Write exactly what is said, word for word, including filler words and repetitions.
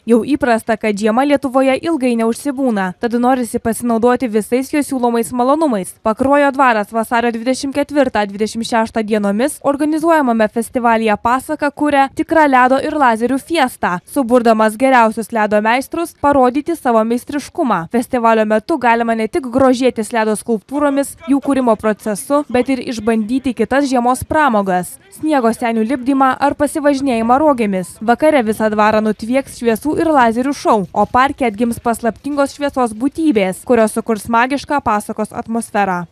Jau įprasta, kad žiema Lietuvoje ilgai neužsibūna, tad norisi pasinaudoti visais jo siūlomais malonumais. Pakruojo dvaras vasario dvidešimt ketvirtą dvidešimt šeštą dienomis organizuojamame festivalyje Pasaka kuria tikrą ledo ir lazerių fiestą, suburdamas geriausius ledo meistrus parodyti savo meistriškumą. Festivalio metu galima ne tik grožėtis ledo skulptūromis, jų kūrimo procesu, bet ir išbandyti kitas žiemos pramogas – sniego senių lipdymą ar pasivažinėjimą rogėmis. Vakare visą dvarą nutvieks šviesų ir lazerių šou, o parke atgims paslaptingos šviesos būtybės, kurios sukurs magišką pasakos atmosferą.